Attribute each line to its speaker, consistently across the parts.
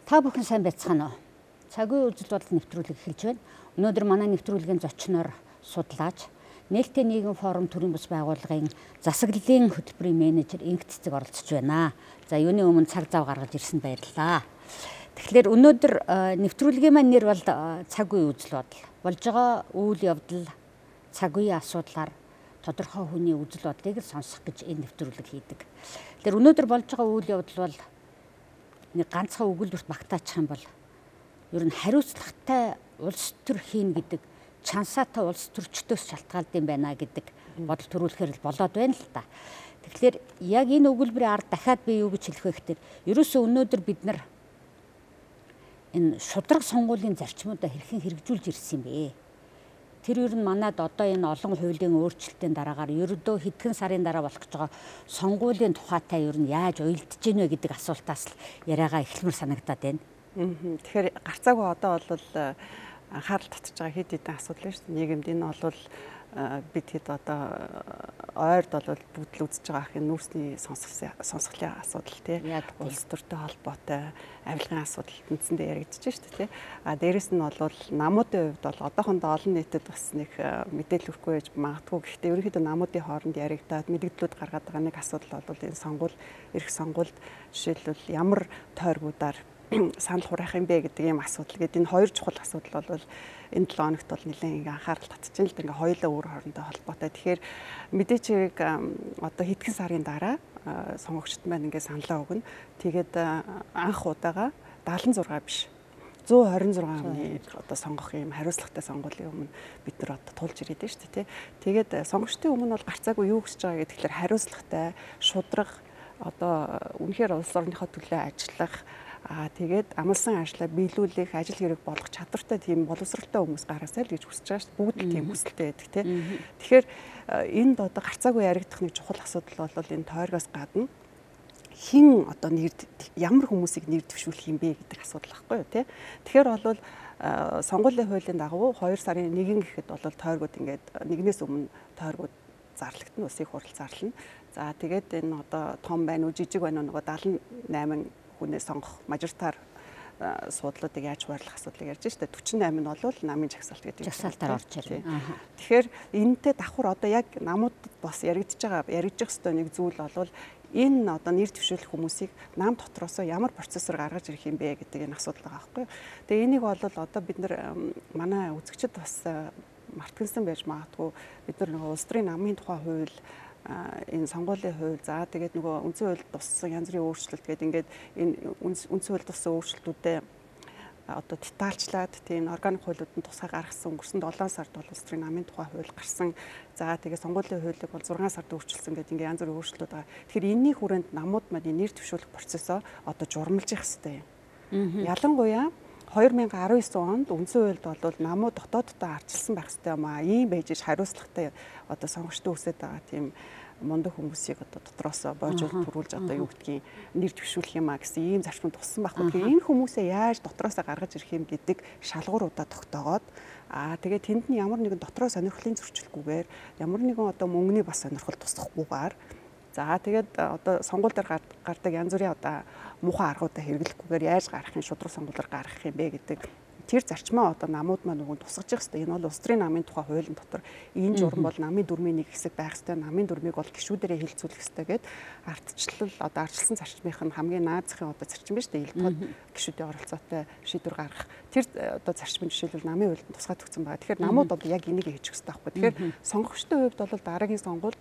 Speaker 1: Та бүхэн сайн байцгаана уу? Цагийн үзэл бодол нэвтрүүлэг эхэлж байна. Өнөөдөр манай нэвтрүүлгийн зочноор судлаач, нээлттэй нийгэм форум төрийн бас байгууллагын засаглалын хөтөлбөрийн менежер Инх Цэцэг оролцож байна. За юуны өмнө цаг зав гаргаж ирсэнд баярлалаа. Тэгэхээр өнөөдөр нэвтрүүлгийн маань нэр бол цагийн үзэл бодол. Болж байгаа үйл явдал, цаг үеийн асуудлаар тодорхой хүний үзэл бодлыг сонсох гэж энэ нэвтрүүлэг хийдэг. Тэгэхээр өнөөдөр болж байгаа үйл явдал бол нэг ганцхан өгүүлбэрт багтаачих юм бол ер нь хариуцлагатай улс төр хийн гэдэг чансаатай улс төрчдөөс шалтгаалдаг юм байна гэдэг бодол төрүүлэхээр болоод байна л та. Тэгэхээр яг энэ өгүүлбэрийн ард дахиад би юу гэж хэлэх вэ гэхээр ерөөсөө өнөөдөр бид нар энэ шудраг сонгуулийн зарчмуудаа хэрхэн хэрэгжүүлж ирсэн юм бэ? Тэр ер нь манад одоо энэ олон хуулийн өөрчлөлтийн дараагаар ердөө хэдхэн сарын дараа болох гэж байгаа сонгуулийн тухайтай ер нь яаж уялдж гинэ вэ гэдэг асуултаас л яриагаа эхлэмээр санагдаад байна.
Speaker 2: Тэгэхээр гарцаагүй одоо бол анхаарал татж байгаа хэд хэдэн асуудал шүү дээ. Нийгэмд энэ бол бид хэд одоо ойрд бол бүгд л үзэж байгаа ахын нүүрсний сонсголын асуудал тий. Улс төртэй холбоотой авилгын асуудал тэнцэндээ яригдчихэж шүү дээ тий. Дээрэс нь бол намуудын хувьд бол одоохондоо олон нийтэд бас нэг мэдээлэл өрөхгүй байж магадгүй. Гэхдээ ерөнхийдөө намуудын хооронд яригдаад мэдээлэлүүд гаргаад байгаа нэг асуудал бол энэ сонгуул, эх сонгуульд жишээлбэл ямар тойргуудаар санал хураах юм бэ гэдэг ийм асуудал. Гэт энэ хоёр чухал асуудал бол энэ 7 хоногт бол нэлээд анхаарал татчихсан л да. Ингээ хоёулаа өөр хоорондоо холбоотой. Тэгэхээр мэдээч яг одоо хэдхэн сарын дараа сонгогчд маань ингээ саналаа өгнө. Тэгээд анх удаага 76 биш 126 оны одоо сонгох юм хариуцлагатай сонгуулийн өмнө бид нар одоо тулж ирээд байна шүү дээ. Тэгээд сонгогчдын өмнө бол гарцаагүй юу гэж байгаа гэхээр хариуцлагатай, шудраг одоо үнэхээр улс орныхоо төлөө ажиллах тэгээд амлсан ажлаа биелүүлэх, ажил хэрэг болгох чадвартай тийм боловсралтай хүмүүс гаргасай л гэж хүсэж байгаа шүү дээ. Бүгд л тийм хүсэлтэй байдаг тийм. Тэгэхээр энд одоо гарцаагүй яригдах нэг чухал асуудал бол энэ тойргоос гадна хин одоо ямар хүмүүсийг нэр дэвшүүлэх юм бэ гэдэг асуудал байхгүй юу тийм. Тэгэхээр бол сонгуулийн хуулийн дагуу 2 сарын 1 гэхэд бол тойргууд ингээд нэгнээс өмнө тойргууд зарлагдана, ус их хурал зарлана. За тэгээд энэ одоо том байна уу, жижиг байна уу, нөгөө 78 хүнээс сонгох мажоритар суудлуудыг яаж хуваарлах асуудлыг ярьж штэ 48 нь бол намын жагсаалт гэдэг
Speaker 1: жагсаалтаар орж ирнэ.
Speaker 2: Тэгэхээр энэтэй давхар одоо яг намуудад бас яригдж байгаа ёстой нэг зүйл бол энэ одоо нэр дэвшүүлэх хүмүүсийг нам дотроосоо ямар процессор гаргаж ирэх юм бэ гэдэг энэ асуудал байгаа байхгүй юу. Тэгээ энийг бол одоо бид нар манай үзэгчид бас мартагсан байж магадгүй бид нар нөгөө улс төрийн намын тухай хууль энэ сонгуулийн хууль за тэгээд нөгөө үндсэн хуульд туссан янз бүрийн өөрчлөлт гэдэг ингээд энэ үндсэн хуульд туссан өөрчлөлтүүдэд одоо детальчлаад тийм органик хуулиуданд тусгай гаргасан өнгөрсөн 7 сард бол улс төрийн намын тухай хууль гарсан. За тэгээд сонгуулийн хуулийг бол 6 сард өөрчилсөн гэдэг ингээд янз бүрийн өөрчлөлтүүд байгаа. Тэгэхээр энэний хүрээнд намууд маань нэр дэвшүүлэх процессоо одоо журмалж явах хэрэгтэй юм. Ялангуяа 2019 онд үндсэн хуульд бол намууд дотооддоо арчилсан байх хэрэгтэй юм аа. Ийм байж хариуцлагатай одоо сонгогчдод үсэт байгаа тийм мундаг хүмүүсийг одоо дотроос боожуулж төрүүлж одоо юу гэдгийг нэр дэвшүүлэх юм аа гэсэн ийм зарчмууд туссан байхгүй. Тэгэхээр энэ хүмүүсээ яаж дотроос гаргаж ирэх юм гэдэг шалгууруудаа тогтоогоод тэгээд тэнд нь ямар нэгэн дотроо сонирхлын зөрчилгүйгээр ямар нэгэн одоо мөнгөний бас сонирхол тусдахгүйгээр за тэгээд одоо сонгууль дээр гардаг янз бүрийн одоо муухай аргуудаа хэрэглэхгүйгээр яаж гарах юм шудраг сонгуулиар гарах юм бэ гэдэг тэр зарчмаа одоо намууд маань нөгөө тусгаж явах хэрэгтэй. Энэ бол улс төрийн намын тухай хуулийн дотор энэ журам бол намын дүрмийн нэг хэсэг байх хэрэгтэй. Намын дүрмийг бол гишүүдэрээ хилцүүлэх хэрэгтэй гэд ардчлал одоо ардчилсан зарчмынх нь хамгийн наад захын одоо зарчим биш үү? Илтгод гишүүдийн оролцоотой шийдвэр гаргах. Тэр одоо зарчмын жишээлбэл намын хуульд тусгай төгсөн байгаа. Тэгэхээр намууд бол яг энийг хийж өгөх хэрэгтэй байхгүй. Тэгэхээр сонгогчдын хувьд бол дараагийн сонгуульд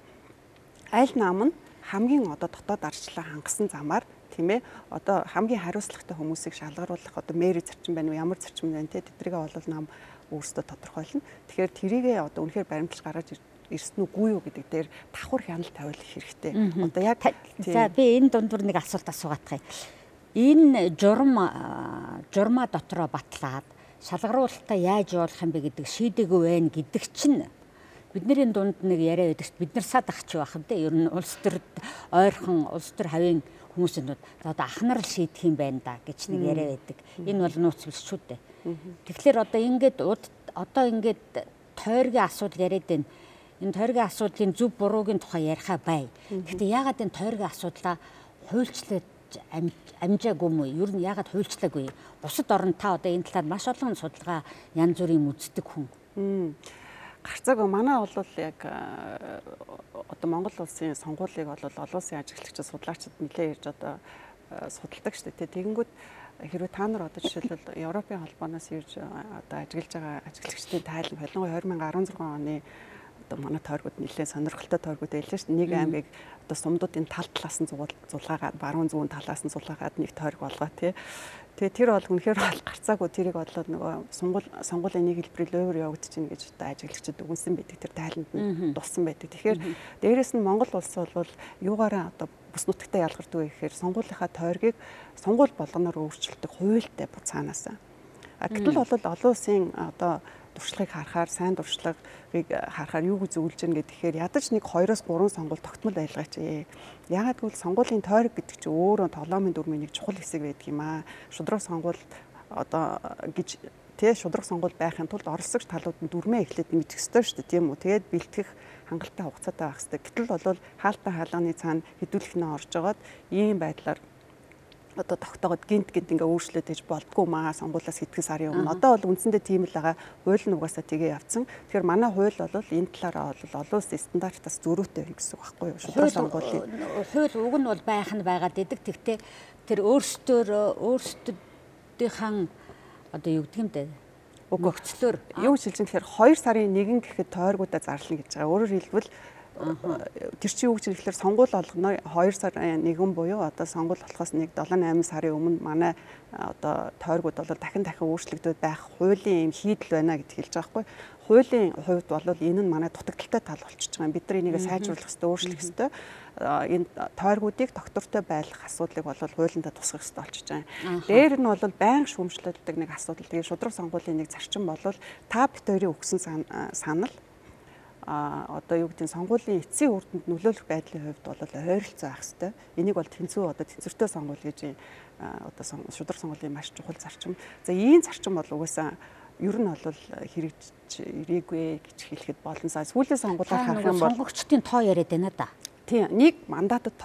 Speaker 2: аль нам нь хамгийн одоо дотоод ардчлалаа хангасан замаар тийм ээ одоо хамгийн хариуцлагатай хүмүүсийг шалгаруулах одоо мэри зарчим байна уу ямар зарчим байна те тэдрийгээ бол нам өөрсдөө тодорхойлно. Тэгэхээр тэрийгээ одоо үнэхээр баримталж гаргаж ирсэн үгүй юу гэдэг дээр давхар хяналт тавиулах хэрэгтэй. Одоо яг
Speaker 1: за би энэ дундуур нэг асуулт асуугаадах юм. Энэ журмаа дотроо батлаад шалгаруулалтаа яаж явуулах юм бэ гэдэг шийдэггүй байна гэдэг чинь бидний дунд нэг яриа байдаг. Бид нар сад ахч байх юм те. Ер нь улс төрд ойрхон улс төр хавийн хүмүүсүүд одоо ахнаар шийдэх юм байна да гэж нэг яриа байдаг. Энэ бол нууц биш шүү дээ. Тэгэхээр одоо ингээд тойргийн асуудал яриад байна. Энэ тойргийн асуудлын зөв буруугийн тухай ярихаа бай. Гэхдээ яагаад энэ тойргийн асуудлаа хуульчлаад амжаагүй юм уу? Ер нь яагаад хуульчлаагүй? Бусад орнд та одоо энэ талаар маш олон судалгаа янз бүрийн үздэг хүн.
Speaker 2: Гарцаагүй манай бол яг одоо Монгол улсын сонгуулийг бол олон улсын ажиглагчид судлаачид нэлээд ирж одоо судалдаг шүү дээ. Тэгэнгүүт хэрвээ та нар одоо жишээлбэл Европын холбооноос ирж одоо ажиглаж байгаа ажиглагчдын тайлбар солонгоо 2016 оны одоо манай тойргууд нэлээд сонирхолтой тойргууд байлаа шүү дээ. Нэг аймгийг одоо сумдуудын тал талаас нь зулгаагаад баруун зүүн талаас нь зулгаагаад нэг тойрог болгоо тий. Тэгээ тэр бол үнэхээр гарцаагүй тэрийг бодлоо нөгөө сонгуулийн нэг хэлбэрээр өөр явагдаж байна гэж одоо ажиглагчид үгэнсэн байдаг. Тэр тайланд нь дуссан байдаг. Тэгэхээр дээрэс нь Монгол улс бол юугаараа одоо бус нутагтай ялгардаг вэ гэхээр сонгуулийнхаа тойргийг сонгуул болгоноор өөрчилдөг хуультай цаанаасаа. Гэтэл бол олон улсын одоо туршлагыг харахаар сайн туршлагыг харахаар юу гэж зөвлөж гэнэ гэхээр ядаж нэг 2-3 сонгуул тогтмол байлгаач. Яагаад гэвэл сонгуулийн тойрог гэдэг чинь өөрөө тоглоомын дүрмийн нэг чухал хэсэг байдаг юм аа. Шудраг сонгуул одоо гэж шудраг сонгуул байхын тулд оролцогч талууд нь дүрмээ эхлээд мэдэх ёстой шүү дээ, тийм үү? Тэгээд бэлтгэх хангалттай хугацаатай байх хэрэгтэй. Гэтэл бол хаалттай хаалганы цаана хэдүүлэхнээ орж байгаад ийм байдлаар одоо тогтоогод гинт ингээ өөрчлөлт хийж болдгоо маа сонгуулиас хэдхэн сарын өмнө. Одоо бол үндсэндээ тийм л байгаа. Хууль нь угаасаа тгээ явцсан. Тэгэхээр манай хууль бол энэ талаараа бол олон улсын стандартаас зөрүүтэй байна гэсэн үг байхгүй юу? Шудраг сонгуулийн
Speaker 1: хууль уг нь бол байх нь байгаад идэг. Тэгтээ тэр өөрсдийнхээ одоо юу гэдэг юм бэ? Өгөгцлөөр
Speaker 2: юу шилжин тэгэхээр 2 сарын 1 гэхэд тойргуудаа зарлана гэж байгаа. Өөрөөр хэлбэл тэр чинь юу гэж хэлэхээр сонгуул болгоно 2 сарын 1 буюу одоо сонгуул болохоос нэг 7-8 сарын өмнө манай одоо тойргууд бол дахин өөрчлөгдөд байх хуулийн юм хийдэл байна гэж хэлж байгаа байхгүй. Хуулийн хувьд бол энэ нь манай дутагдaltaй тал болчихж байгаа. Бид нар энийг сайжруулах хэрэгтэй, өөрчлөх хэрэгтэй. Энэ тойргуудыг доктортой байлгах асуудлыг бол хуулиндаа тусгах хэрэгтэй болчихж байгаа. Дээр нь бол байнга шүүмжлүүлдэг нэг асуудал. Тэгээ шудраг сонгуулийн нэг зарчим бол та бит хоёрын өгсөн санал одоо юу гэдэг нь сонгуулийн эцсийн үр дүнд нөлөөлөх байдлын хувьд бол ойролцоо байх хэрэгтэй. Энийг бол тэнцүү одоо тэнцвэртэй сонгуул гэж одоо шудраг сонгуулийн маш чухал зарчим. За ийм зарчим бол угаасаа ер нь бол хэрэгжиж ирээгүй гэж хэлэхэд болно. Сүүлийн сонгуулиар харах юм бол
Speaker 1: сонгогчдын тоо яриад байна да.
Speaker 2: Тийм, нэг мандатад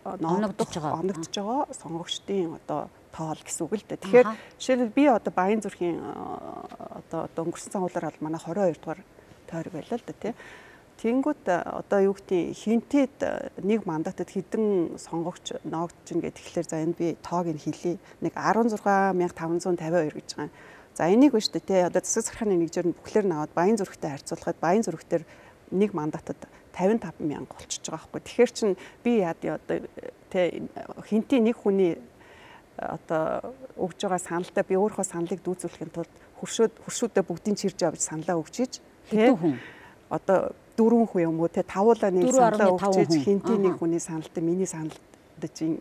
Speaker 1: оногдож
Speaker 2: байгаа сонгогчдын одоо тоол гэсэн үг л дээ. Тэгэхээр жишээлбэл би одоо Баян зүрхийн одоо өнгөрсөн сонгуулиар бол манай 22 дугаар тойрог байлаа л да тий. Тэнгүүт одоо юу гэдэг хинтэд нэг мандатад хэдэн сонгогч ноогдож ин гэдэг тэгэхээр за энэ би тоог нь хэлье. Нэг 16552 гэж байгаа. За энийг биш үү тий. Одоо засаг захиргааны нэгжээр нь бүхлээр нь аваад Баян зүрхтэй харьцуулахад Баян зүрхтэр нэг мандатад 55,000 болчихж байгаа байхгүй. Тэгэхээр чин би одоо тий хинтийн нэг хүний одоо өгж байгаа саналтай би өөрийнхөө саналыг дүүцүүлэхийн тулд хуршүүдээ бүгдийг чирж авч саналаа өгчиж
Speaker 1: хэдэн хүн
Speaker 2: одоо 4 хүн юм уу те тавуулаа нэг саналаа өгчиж хинтийн нэг хүний саналтай миний саналд чинь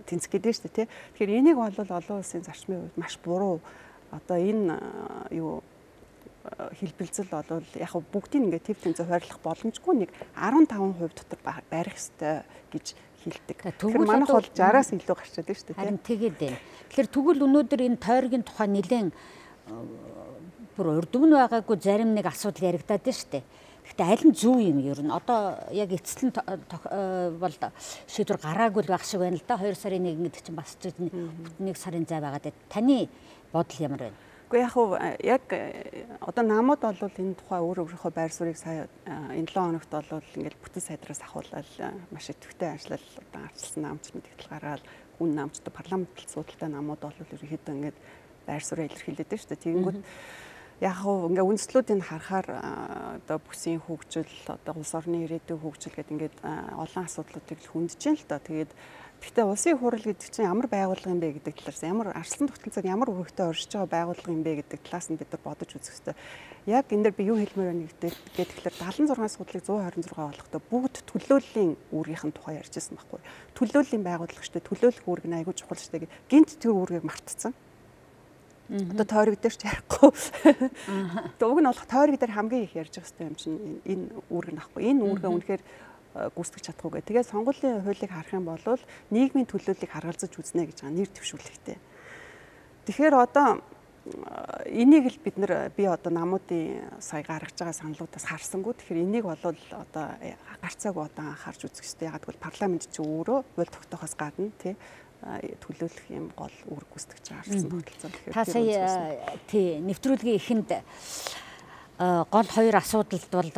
Speaker 2: тэнцэх гэдэг нь шүү дээ тий. Тэгэхээр энийг бол олон улсын зарчмын хувьд маш буруу одоо энэ юу хэлбэлзэл бол яг бүгдийг ингээ төв тэнцээ хойрлох боломжгүй нэг 15% дотор барих ёстой гэж хэлдэг. Тэгэхээр манайх бол 60-аас илүү гарчаад байна шүү дээ.
Speaker 1: Харин тэгээд байна. Тэгэхээр тэгвэл өнөөдөр энэ тойргийн тухай нэлээд бүр урд өмнө байгаагүй зарим нэг асуудал яригадаад байна шүү дээ. Гэхдээ аль нь зөв юм ер нь одоо яг эцэслэн бол шийдвэр гараагүй л байх шиг байна л да. 2 сарын 1 гэдэг чинь бас нэг сарын зай байгаад байна. Таны бодол ямар байна?
Speaker 2: Гэхдээ яг одоо намууд бол энэ тухай өөрийнхөө байр суурийг сая энэ 7 хоногт бол ингээд бүтэн сайдраас ахуулаад маш идэвхтэй ажиллал одоо арчилсан наамч мэдээлэл гаргаад хүн наамчтай парламентт судалтай намууд бол ерөнхийдөө ингээд байр суурийг илэрхийлээд байна шүү дээ. Тэгэнгүүт яг ингээ үндэслүүдийг харахаар одоо бүсийн хөгжил одоо улс орны ирээдүйн хөгжил гэдэг ингээд олон асуудлуудыг хүндэж байна л доо. Тэгээд гэхдээ улсын хурал гэдэг чинь ямар байгууллага юм бэ гэдэг талаас ямар арслан тогтолцоог ямар өргөдтэй оршиж байгаа байгууллага юм бэ гэдэг талаас нь бид нар бодож үзэх хэрэгтэй. Яг энэ дээр би юу хэлмээр байна гэдэг тэгэхээр 76 судлыг 126 болохдоо бүгд төлөөллийн үүргийнхэн тухай ярьж байсан байхгүй. Төлөөллийн байгууллагчтай төлөөлөх үүрэг нь айгүй чухал шүү дээ. Гинт тэр үүргийг мартцсан. Одоо тойрог дээр ч ярихгүй. Уг нь болох тойрог дээр хамгийн их ярьж байгаа хэрэгтэй юм чинь энэ үүрэг нахгүй. Энэ үүргээ үнэхээр гүйцэтгэж чадахгүй. Тэгээд сонгуулийн хуулийг харах юм бол нийгмийн төлөөллийг харгалзаж үзнэ гэж байгаа нэр дэвшүүлэхтэй. Тэгэхээр одоо энийг л би одоо намуудын сая гаргаж байгаа саналуудаас харсангүй. Тэгэхээр энийг бол одоо гарцааг одоо анхаарч үзэх хэрэгтэй. Яг гэвэл парламент чи өөрөө хууль тогтоохоос гадна тий төлөөлөх юм гол үүрэг гүйцэтгэж байгаа гэсэн тогтолцоо.
Speaker 1: Та сая тий нэвтрүүлгийн эхэнд гол хоёр асуудалд бол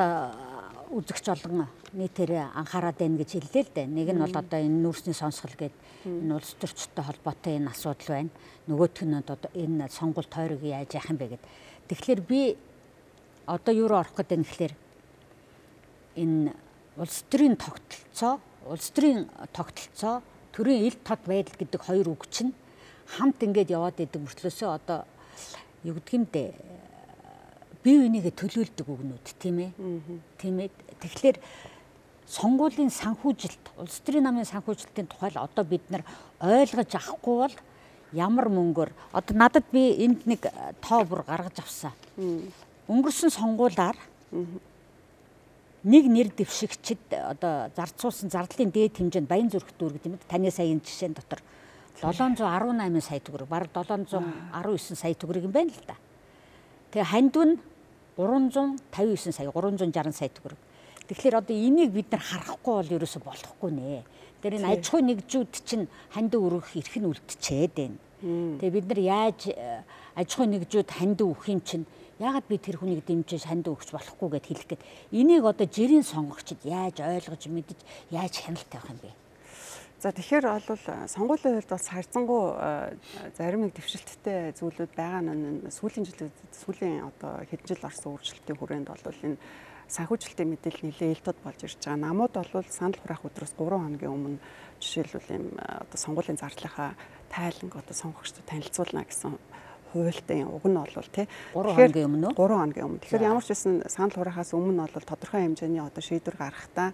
Speaker 1: үзэгч олон нийтээр анхаарал байна гэж хэллээ л дээ. Нэг нь бол одоо энэ нүүрсний сонсгол гэдэг энэ улс төрчтэй холбоотой энэ асуудал байна. Нөгөөх нь одоо энэ сонгуульд тойрог яаж яах юм бэ гэд. Тэгэхээр би одоо юу руу орох гэдэг нь гэхээр энэ улс төрийн тогтолцоо төрийн ил тод байдал гэдэг хоёр үг чинь хамт ингээд яваад идэг мөртлөөсөө одоо юу гэдэг юм бэ? Бие бинийгээ төлөөлдөг үгнүүд тийм ээ. Тийм ээ. Тэгэхээр сонгуулийн санхүүжилт, улс төрийн намын санхүүжилтийн тухай л одоо бид нар ойлгож авахгүй бол ямар мөнгөөр одоо надад би энд нэг тоо бүр гаргаж авсан. Өнгөрсөн сонгуулиар нэг нэр дэвшигчид одоо зарцуулсан зардлын дээд хэмжээнд Баян зүрх дүүр гэдэг юм. Таны саяын жишээн дотор 718 сая төгрөг, бараг 719 сая төгрөг юм байна л да. Тэгээ хандив нь 359 сая, 360 сая төгрөг. Тэгэхээр одоо энийг бид нар харахгүй бол ерөөсө болохгүй нэ. Тэр энэ аж ахуй нэгжүүд чинь хандив өргөх эрх нь үлдчихэд байна. Тэгээ бид нар яаж аж ахуй нэгжүүд хандив өгөх юм чинь яагаад би тэр хүнийг дэмжиж хандив өгч болохгүй гэд хэлэх гээд энийг одоо жирийн сонгогчид яаж ойлгож мэдэж яаж хяналт тавих юм бэ?
Speaker 2: За тэгэхээр бол сонгуулийн хувьд бас харьцангуй зарим нэг дэвшилттэй зүйлүүд байгаа нь сүүлийн одоо хэдэн жил орсон өөрчлөлтийн хүрээнд бол энэ санхүүжилтийн мэдээлэл нэлээд ил тод болж ирж байгаа. Намууд бол санал хураах өдрөөс 3 хоногийн өмнө жишээлбэл юм одоо сонгуулийн зардлынхаа тайланг одоо сонгогчдод танилцуулна гэсэн хуультай уг нь бол тий
Speaker 1: 3 хоногийн өмнө
Speaker 2: 3 хоногийн өмнө. Тэгэхээр ямар ч байсан санал хураахаас өмнө бол тодорхой хэмжээний одоо шийдвэр гаргахдаа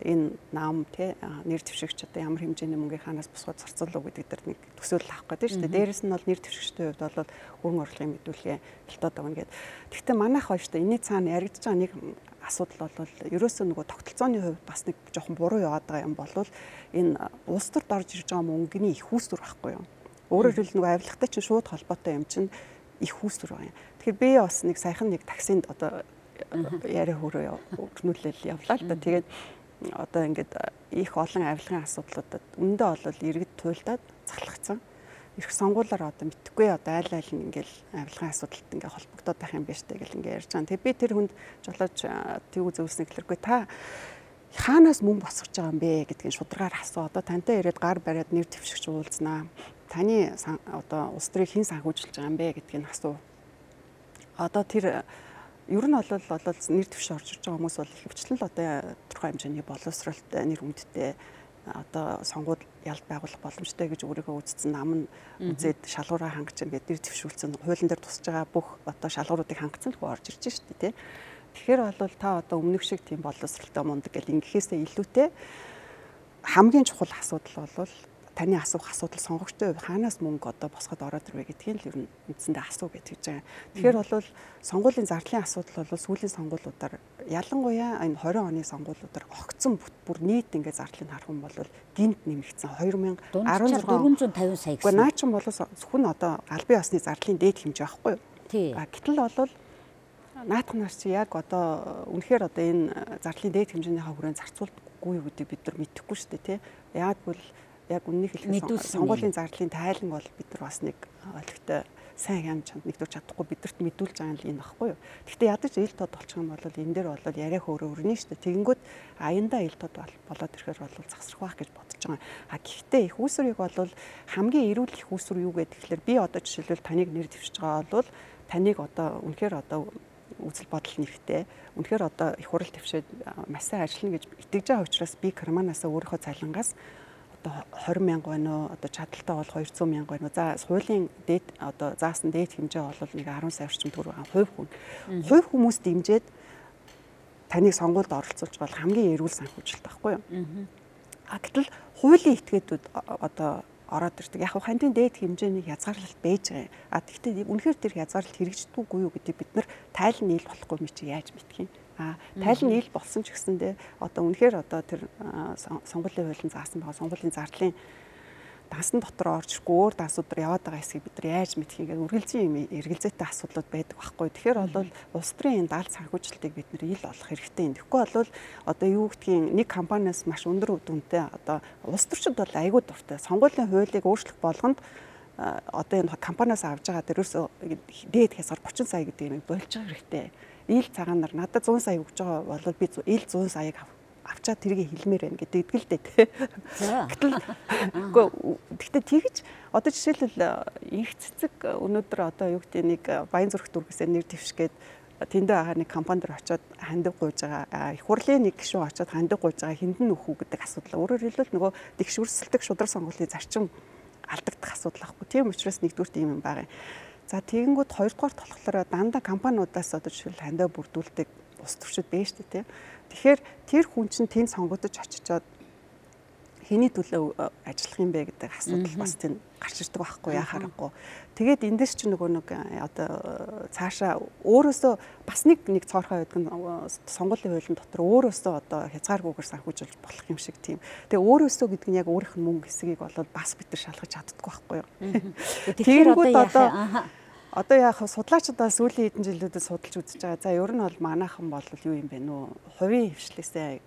Speaker 2: энэ нам тий нэр дэвшигч одоо ямар хэмжээний мөнгөний ханаас босгоод зарцуулах гэдэг дээр нэг төсөөлөл авах гэдэг шүү дээ. Дээрээс нь бол нэр дэвшигчдийн хувьд бол хөрөнгө оруулалтын мэдүүлгээ хилтоод өгнө гэдэг. Гэхдээ манайх хоёр шүү дээ энэ цаана яригдж байгаа нэг асуудал бол ерөөсөө нөгөө тогтолцооны хувьд бас нэг жоохон буруу яваад байгаа юм болвол энэ улс төрд орж ирж байгаа мөнгөний их үүсвэр байхгүй юу? Өөрөөр хэлбэл нөгөө авилгатай чинь шууд холбоотой юм чинь их үүсвэр байна. Тэгэхээр би бас нэг саяхан нэг таксинд одоо яриа хөрөө өгнүүлэл явлаа л да. Тэгээд одоо ингээд их олон авилгын асуудлуудад өндөө бол иргэд туйлдаад цахалгацсан. Ирэх сонгуулиар одоо мэдхгүй одоо айл нь ингээл авилгын асуудалд ингээ холбогдоод байх юм байна штэ гэл ингээ ярьж байгаа. Тэгээд би тэр хүнд жолооч тийг зөвснө гэхлээргүй та хаанаас мөнгө босгож байгаа юм бэ гэдгийг шударгаар асуу. Одоо тантай ирээд гар бариад нэр дэвшигч уулзнаа. Таны одоо улс төрийг хэн санхүүжилж байгаа юм бэ гэдгийг асуу. Одоо тэр ер нь бол нэр дэвш орж ирж байгаа хүмүүс бол ихэвчлэн л одоо тодорхой хэмжээний боловсролтой нэр хүндтэй одоо сонгуульд ялд байгуулах боломжтой гэж өөрийгөө үзсэн нам нь үзээд шалгуураа хангаж ингээд нэр дэвшүүлсэн хуулийн дээр тусаж байгаа бүх одоо шалгууруудыг хангацсан л орж ирж штэ тий. Тэгэхээр бол та одоо өмнөх шиг тийм боловсролтой мундаг гэл ингэхээсээ илүүтэй хамгийн чухал асуудал бол таны асуух асуудал сонгогчтой хувь хаанаас мөнгө одоо босгоод ороод ирвэ гэдгийг л ер нь үндсэндээ асуу гэж хэлж байгаа. Тэгэхээр бол сонгуулийн зардлын асуудал бол сүүлийн сонгуулиудаар ялангуяа энэ 20 оны сонгуулиудаар огцсон бүр нийт ингээд зардлыг харах юм бол гинт нэмэгдсэн 2016
Speaker 1: 450 сая гэсэн.
Speaker 2: Гэхдээ наа чин бол зөвхөн одоо албан ёсны зардлын дээд хэмжээ байхгүй юу?
Speaker 1: Тий.
Speaker 2: Гэтэл бол наадах нар чи яг одоо үнэхээр одоо энэ зардлын дээд хэмжээнийхээ хүрээнд зарцуулдаггүй юу гэдэг бид нар мэдэхгүй шүү дээ тий. Яг бол яг үннийг хэлэхэд сонгуулийн зардлын тайлан бол бид нар бас нэг ойлгохтой сайн хям чанд нэгдүүлж чадахгүй бидэрт мэдүүлж байгаа юм баггүй юу. Гэхдээ ядаж ил тод болчих юм бол энэ дээр бол яриа хөөрөө өрнө шүү дээ. Тэгэнгүүт аяндаа ил тод болоод ирэхээр бол засрах байх гэж бодож байгаа. Гэхдээ их үүсвэрийг бол хамгийн эрүүл их үүсвэр юу гэдэг тэгэхээр би одоо жишээлбэл таныг нэр дэвшиж байгаа бол таныг одоо үнэхээр одоо үзэл бодол нэрхтээ үнэхээр одоо их хурал твшээд маш сайн ажиллана гэж итгэж байгаа учраас би карманаасаа өөрийнхөө цалингаас 20 мянга байна уу одоо чадaltaй бол 200 мянга байна уу за хуулийн дээд одоо заасан дээд хэмжээ бол нэг 10 сая орчим төгрөг хувь хүмүүс дэмжиж таныг сонгуульд оролцуулж бол хамгийн эрүүл санхүүжилт байхгүй юу. Гэтэл хуулийн этгээдүүд одоо ороод ирдэг. Яг хандийн дээд хэмжээний хязгаарлалт байж байгаа. Тэгэхдээ үнэхээр тэр хязгаарлалт хэрэгждэггүй юу гэдэг бид нар тайлан нийл болохгүй юм чи яаж мэдэх юм. Тайлан нийл болсон ч гэсэндээ одоо үнэхээр одоо тэр сонгуулийн хуулийн заасан байгаа сонгуулийн зардлын дансан дотор орж ирэхгүй өөр дансуудаар яваад байгаа хэсгийг бид нар яаж мэдэх юм гээд үргэлжийн юм эргэлзээтэй асуудлууд байдаг байхгүй. Тэгэхээр бол улс төрийн энэ даалт санхүүжилтийг бид нар ил олох хэрэгтэй юм. Тэгэхгүй бол одоо юу гэдгийг нэг компаниас маш өндөр дүнтэй одоо улс төрчид бол айгүй дуртай. Сонгуулийн хуулийг өөрчлөх болгонд одоо энэ компаниас авж байгаа дээрээс дээд хязгаар 30 сая гэдэг юм болж байгаа хэрэгтэй. Ил цагаанаар надад 100 сая өгж байгаа бол би ил 100 саяг авчаад тэрийг хэлмээр байна гэдэг л дээ. Гэхдээ тэгж одоо жишээлбэл их цэцэг өнөөдөр одоо юу гэдэг нэг Баян зүрх дүүргээс нэр дэвшгээд тэндээ байгаа нэг компанид очиод хандив гуйж байгаа их хурлын нэг гишүүн очиод хандив гуйж байгаа хиндэн нөхүү гэдэг асуудал. Өөрөөр хэлбэл нөгөө дэвшвэрсэлдэг шудраг сонгуулийн зарчим алдагдах асуудал ахгүй. Тийм учраас нэгдүгээр ийм юм байгаа юм. За тэгэнгүүт хоёрдугаар болохоор дандаа компаниудаас одоо жишээл хандив бүрдүүлдэг улс төрчид байна шүү дээ. Тэгэхээр тэр хүн чинь тэнд сонгогдож очичоод хэний төлөө ажиллах юм бэ гэдэг асуудал бас тийм гарч ирдэг байхгүй яхаарахгүй. Тэгээд эндээс ч нөгөө нэг одоо цаашаа өөрөөсөө бас нэг цоорхой байдаг нь сонгуулийн хуулийн дотор өөрөөсөө одоо хязгааргүйгээр санхүүжүүлж болох юм шиг тийм. Тэгээ өөрөөсөө гэдэг нь яг өөрийнх нь мөнгө хэсгийг болоод бас бид нар шалгаж чаддаггүй байхгүй юу. Тэгэхээр одоо яг судлаачид бас сүүлийн хэдэн жилүүдэд судалж үзэж байгаа. За ер нь бол манайхан бол юу юм бэ нөө хувийн хвшлээсээ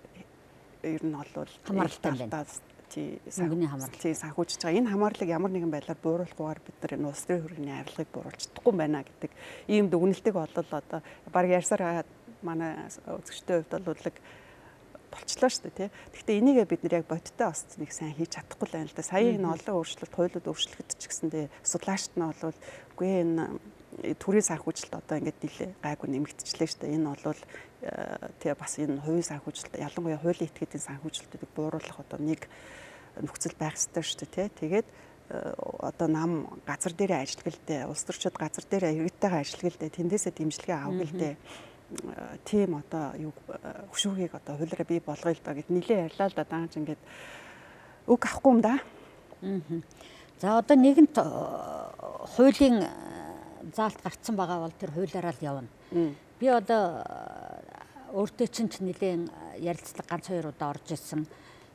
Speaker 2: ер нь бол
Speaker 1: хамааралтай байна.
Speaker 2: Тий санхүүжиж байгаа. Энэ хамаарлыг ямар нэгэн байдлаар бууруулахгүйгээр бид нар энэ улс төрийн хөрөгийн авилгыг бууруулж чадахгүй байна гэдэг ийм дүгнэлтийг болол одоо баг ярьсаар манай үзэгчтэй хувьд бол болчлоо шүү дээ тий. Гэхдээ энийгээ бид нар яг бодиттой бас нэг сайн хийж чадахгүй л байна л да. Сая энэ олон өөрчлөлт, хуулиуд өөрчлөгдөж ч гэсэндээ судлаачид нь бол үгүй энэ төрийн санхүүжилт одоо ингээд нэлээ гайгүй нэмэгдчихлээ шүү дээ. Энэ бол тий бас энэ хувийн санхүүжилт ялангуяа хуулийн этгээдийн санхүүжилтүүдийг бууруулах одоо нэг нөхцөл байх ёстой шүү дээ тий. Тэгээд одоо нам газар дээрээ ажиллагалдээ, улс төрчид газар дээрээ иргэдтэйгээ ажиллагалдээ тэндээсээ дэмжлэгээ авах гэлдээ. Тийм одоо юу хөшүүгийг одоо хуулиараа бий болгоё л да гэд нилээ ярьлаа л да даанч ингээд үг авахгүй юм да.
Speaker 1: За одоо нэгэнт хуулийн заалт гарцсан байгаа бол тэр хуулиараа л явна. Би одоо өөртөө чинь нилээн ярилцлага ганц хоёр удаа орж ирсэн.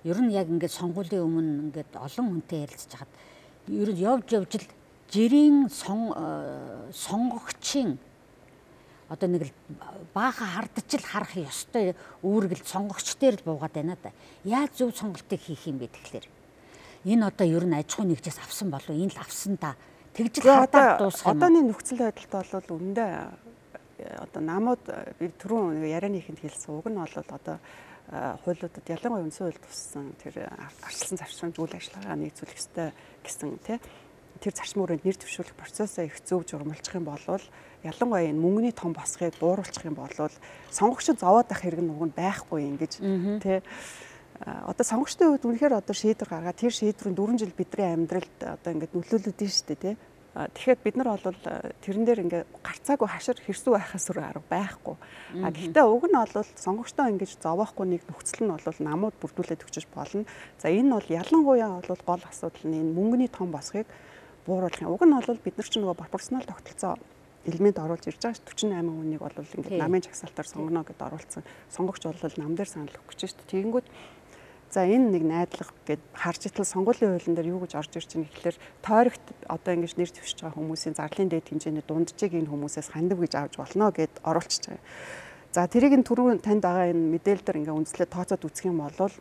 Speaker 1: Ер нь яг ингээд сонгуулийн өмнө ингээд олон хүнтэй ярилцж хахад ер нь явж л жирийн сонгогчийн одоо нэг л баахан хардж л харах ёстой үүрэгэл сонгогч дээр л буугаад байна да. Яаж зөв сонголтыг хийх юм бэ тэгэхээр? Энэ одоо ер нь аж ахуй нэгжээс авсан болов энэ л авсан да. Тэгж л хадаад дуусах юм.
Speaker 2: Одооний нөхцөл байдалд бол үндэ одоо намууд би түрүүн ярианыхэнд хэлсэн үг нь бол одоо хуулиудад ялангуяа үндсэн хууль туссан тэр арчилсан завшрамж үйл ажиллагаа нэгжүүлэх ёстой гэсэн тий. Тэр зарчим хүрээнд нэр дэвшүүлэх процессоо их зөв журмалчих юм бол ялангуяа энэ мөнгөний том босхийг бууруулчих юм бол сонгогчид зовоод ах хэрэг нь уг нь байхгүй ингэж тий. Одоо сонгогчдын хувьд үнэхээр одоо шийдвэр гаргаад тэр шийдвэрийн 4 жил бидний амьдралд одоо ингээд нөлөөлөд нь шүү дээ тий. Тэгэхээр бид нар бол тэрэн дээр ингээд гарцаагүй хашир хэрсүү байхаас өөр арга байхгүй. Гэхдээ уг нь бол сонгогчдоо ингэж зовоохгүй нэг нөхцөл нь бол намууд бүрдүүлээд өгчөж болно. За энэ бол ялангуяа бол гол асуудал нь энэ мөнгөний том босхийг бууруулах юм. Уг нь бол бид нар ч нөгөө пропорционал тогтолцоо элемент оруулж ирж байгаа 48 хүнийг бол ингээд намын жагсаалтаар сонгоно гэдээ оруулсан. Сонгогч бол нам дээр санал өгөх гэж шүү дээ. Тэгэнгүүт за энэ нэг найдлага гэд харж итал сонгуулийн хуулийн дээр юу гэж орж ирж байгаа гэхэлэр тойрогт одоо ингэж нэр дэвшиж байгаа хүмүүсийн зарлалын дээд хэмжээний дунджийг энэ хүмүүсээс хандив гэж авч болно гэд оруулчихж байгаа. За тэрийг энэ түрүүн танд байгаа энэ мэдээлэл дээр ингээ үндэслээд тооцоод үзэх юм бол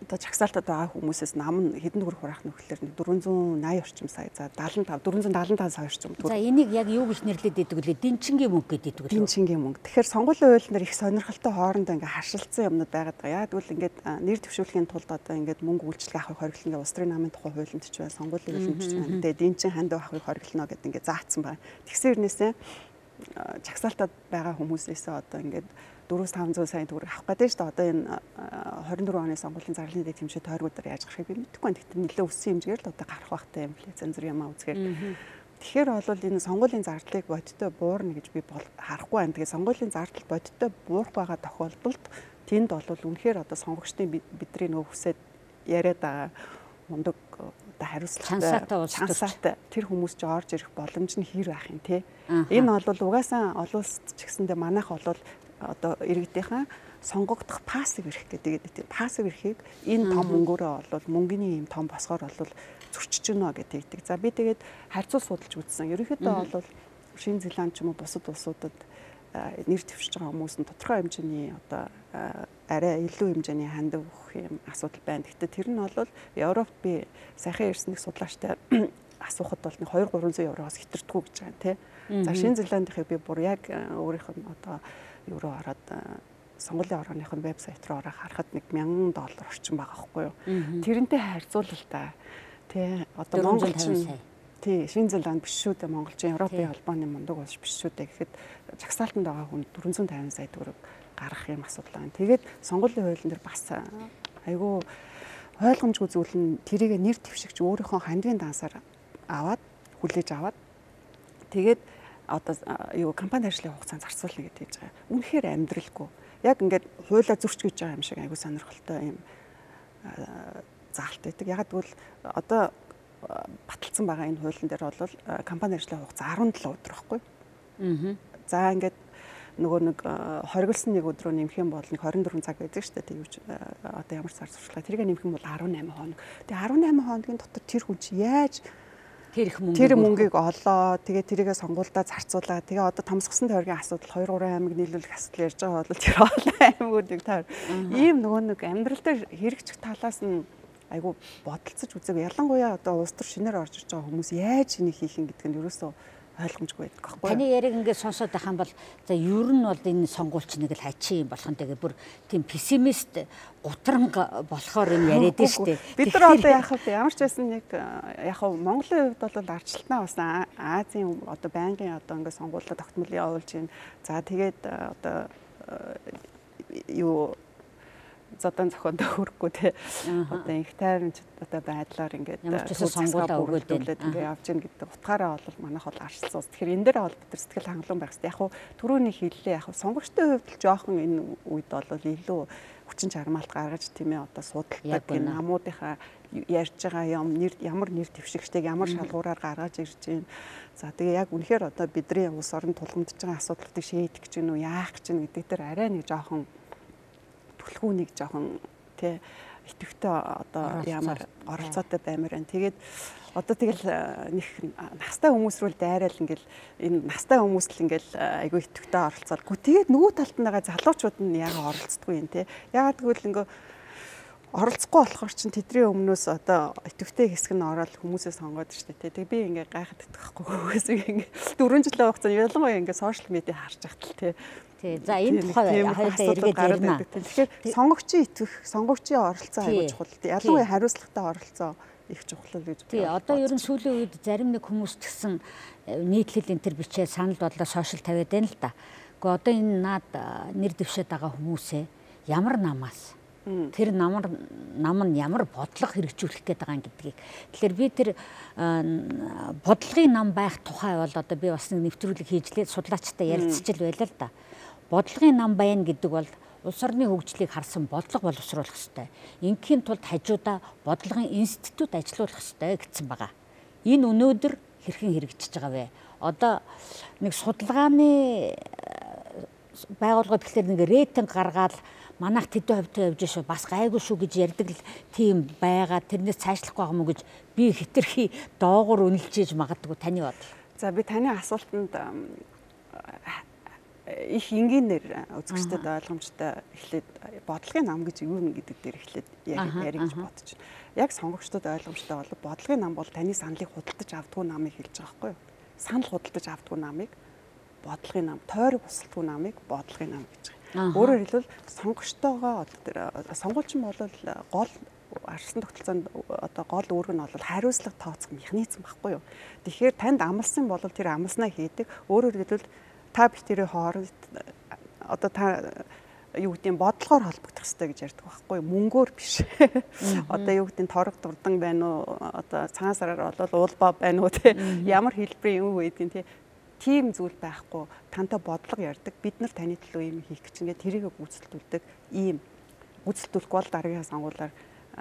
Speaker 2: одоо жагсаалтад байгаа хүмүүсээс нам нь хэдэн төгрөг хураах нөхөрлөөр 480 орчим сая за 475 сая орчим төгрөг.
Speaker 1: За энийг яг юу гэж нэрлэдэг гэдэг үлээ дэнчингийн мөнгө гэдэг үлээ.
Speaker 2: Дэнчингийн мөнгө. Тэгэхээр сонгуулийн хуулиар их сонирхолтой хоорондоо ингээ харшилсан юмнууд байгаад байгаа. Яг тэгвэл ингээд нэр дэвшүүлэхийн тулд одоо ингээд мөнгө үйлчлэг авахыг хориглоно. Улс төрийн намын тухай хуулинд ч байна, сонгуулийн хуулинд ч байна. Тэгээ дэнчин хандив авахыг хориглоно гэдэг ингээ заацсан байна. Тэгсэн хэрнээсээ жагсаалтад байгаа хүмүүсээсээ одоо ингээд 400-500 сая төгрөг авах гэдэг шүү дээ. Одоо энэ 24 оны сонгуулийн зарлалын дэд хэмжээ тойргуудаар яаж гарахыг би мэдэхгүй байна. Гэхдээ нэлээд өссөн хэмжээгээр л одоо гарах багтай юм лээ. Зэн зүр юмаа үзгээр. Тэгэхээр бол энэ сонгуулийн зардлыг бодиттой буурна гэж би харахгүй байна. Тэгээ сонгуулийн зардал бодиттой буурах байгаа тохиолдолд тэнд бол үнэхээр одоо сонгогчдын бидний нөө хүсээд яриад байгаа мундаг одоо хариуцлагатай тэр хүмүүс ч орж ирэх боломж нь хэр байх юм те. Энэ бол угаасаа олон улсад ч гэсэндээ манайх бол одоо иргэдийнхэн сонгогдох пассив эрх гэдэг. Пассив эрхийг энэ том мөнгөөрөө бол мөнгөний юм том босгоор бол зөрчиж гинэ гэдэг. За би тэгээд харьцуул судалж үзсэн. Ерөнхийдөө бол Шинэ Зеланд ч юм уу бусад улсуудад нэр дэвшиж байгаа хүмүүс нь тодорхой хэмжээний одоо арай илүү хэмжээний хандив өгөх юм асуудал байна. Гэхдээ тэр нь бол Европт би сайхан ирсэн нэг судлаачтай асуухад бол 200-300 евроос хэтэрдэггүй гэж байгаа юм тий. За Шинэ Зеландынхыг би бүр яг өөрийнх нь одоо евро хараад сонгуулийн орооныхын вебсайт руу ороод харахад $1,000 орчим байгаа байхгүй юу. Тэрнтэй харьцуулбал та тий одоо монголчин тий Шинэ Зеланд биш шүү дээ, монголчин Европын холбооны мундаг улс биш шүү дээ гэхэд жагсаалтанд байгаа хүн 450 сая төгрөг гаргах юм асуудал байна. Тэгээд сонгуулийн хуулийн дээр бас айгүй ойлгомжгүй зүйл нь тэрийг нэр дэвшигч өөрийнхөө хандивын дансаар аваад хүлээж аваад тэгээд одоо юу компани ажлын хугацаанд зарцуулна гэдэг хийж байгаа. Үнэхээр амьдралгүй. Яг ингээд хуулаа зөрч гэж байгаа юм шиг айгүй сонирхолтой юм заалт байдаг. Яг тэгвэл одоо баталсан байгаа энэ хуулийн дээр бол компани ажлын хугацаа 17 өдөр байхгүй. За ингээд нөгөө нэг хориглосон нэг өдрөө нэмэх юм бол 24 цаг байдаг шүү дээ. Тэгвч одоо ямар сар сурчлага тэрийг нэмэх юм бол 18 хоног. Тэгээ 18 хоногийн дотор тэр хүн чи яаж тэр мөнгийг олоо. Тэгээ тэрийгэ сонгуульдаа зарцуулаа. Тэгээ одоо томсгосон тойргийн асуудал 2-3 аймаг нийлүүлэх асуудал ярьж байгаа бол тэр олон аймагуудыг таар ийм нөгөө нэг амьдрал дээр хэрэгжих талаас нь айгу бодолцож үзээгүй. Ялангуяа одоо улс төр шинээр орж иж байгаа хүмүүс яаж энийг хийх юм гэдэг нь ерөөсөө ойлгомжгүй байдаг байхгүй юу?
Speaker 1: Таны яриг ингээд сонсоод байх юм бол за ер нь бол энэ сонгуульч нэг л хачин юм болох нь тэгээ бүр тийм пессимист гутранг болохоор юм яриад нь шүү дээ.
Speaker 2: Бид нар одоо яах вэ? Ямар ч байсан нэг яг нь Монголын хувьд бол арчлалтнаа бас Азийн одоо байнгын одоо ингээд сонгуулиуд тогтмол явуулж байна. За тэгээд одоо юу зодан зохиондоо хүрэхгүй те одоо их тайрамч одоо байдлаар ингээд
Speaker 1: сонгуулаа өгүүлээд
Speaker 2: ингээд явж гин гэдэг утгаараа бол манайх бол арчилсан ус. Тэгэхээр энэ дээр бол бид нар сэтгэл хангалуун байх хэрэгтэй. Яг хуу түрүүний хэллээ яг сонгогчтой хувьд л жоохон энэ үед бол илүү хүчин чармаалт гаргаж тийм ээ одоо судалдаг гин намуудынхаа ярьж байгаа юм ямар нэр дэвшигчтэйг ямар шалгуураар гаргаж ирж байна. За тэгээ яг үнэхээр одоо бидний улс орнд тулгамдж байгаа асуудлуудыг шийдэх гэж нү яах гэж нү гэдэг дээр арай нэг жоохон түлхүүнийг жоохон тий итэвхтэй одоо ямар оролцоотой баймаар байна. Тэгээд одоо тэгэл нэг настай хүмүүс рүү дайраал ингээл энэ настай хүмүүс л ингээл айгүй итэвхтэй оролцоолгүй. Тэгээд нөгөө талд нь байгаа залуучууд нь яг оролцдоггүй юм тий. Ягаад гэвэл ингээ оролцохгүй болохоор чинь тэдний өмнөөс одоо итэвхтэй хэсэг нь ороод хүмүүсээ сонгоод штэ тий. Тэг би ингээ гайхаад итгэхгүй хүмүүсийг ингээ 4 жилийн хугацаанд ялангуяа ингээ сошиал медиа харж ахтал тий.
Speaker 1: За энэ тухай хоёулаа эргээд ярина.
Speaker 2: Тэгэхээр сонгогчийн итгэх, сонгогчийн оролцоо аягүй чухал. Ялангуяа хариуцлагатай оролцоо их чухал гэж
Speaker 1: байна. Тий, одоо ер нь сүүлийн үед зарим нэг хүмүүс ч гэсэн нийтлэл энэ төр бичээ санал бодлоо сошиал тавиад байна л да. Гэхдээ одоо энэ наад нэр дэвшээд байгаа хүмүүсээ ямар намаас тэр нам нь ямар бодлого хэрэгжүүлэх гээд байгаа юм гэдгийг. Тэгэхээр би тэр бодлогын нам байх тухай бол одоо би бас нэг нэвтрүүлэг хийжлээ судлаачтай ярилцчихл байлаа л да. Бодлогын нам байна гэдэг бол улс орны хөгжлийг харсан бодлого боловсруулах ёстой. Ингийн тулд хажуудаа бодлогын институт ажилуулах ёстой гэсэн байгаа. Энэ өнөөдөр хэрхэн хэрэгжиж байгаа вэ? Одоо нэг судалгааны байгууллагууд гэхэлэр нэг рейтинг гаргаад манайх тэдэн хувьтай явж шүү бас гайгүй шүү гэж ярьдаг л тийм байгаа. Тэрнээс цаашлахгүй байгаа мó гэж би хэтэрхий доогуур үнэлж магадгүй таны бодол.
Speaker 2: За би таны асуултанд их энгийнээр үзэгчдэд ойлгомжтой эхлээд бодлогын нам гэж юу нэ гэдэг дээр эхлээд ярих гэж бодож байна. Яг сонгогчдод ойлгомжтой бол бодлогын нам бол таны саналыг худалдаж авдаггүй намыг хэлж байгаа байхгүй юу? Санал худалдаж авдаггүй намыг бодлогын нам, тойрог бусалдаггүй намыг бодлогын нам гэж байгаа. Өөрөөр хэлбэл сонгогчтойгоо сонгуульчин бол гол арчилсан тогтолцоонд одоо гол үүрэг нь бол хариуцлага тооцох механизм байхгүй юу? Тэгэхээр танд амлсан бол тэр амлснаа хийдэг. Өөрөөр хэлбэл та битэрийн хооронд одоо та юу гэдэг нь бодлогоор холбогдох хэрэгтэй гэж ярьдаг байхгүй юу? Мөнгөөр биш. Одоо юу гэдэг нь торог дурдан байна уу? Одоо цагаан сараар болол уулбаа байна уу те? Ямар хэлбэрийн юм байдаг те? Тийм зүйл байхгүй. Тантай бодлого ярьдаг. Бид нар таны төлөө юм хийх гэж ингээд тэрийг гүйцэтгүүлдэг. Ийм гүйцэтгүүлэхгүй бол дараагийн сонгуулиар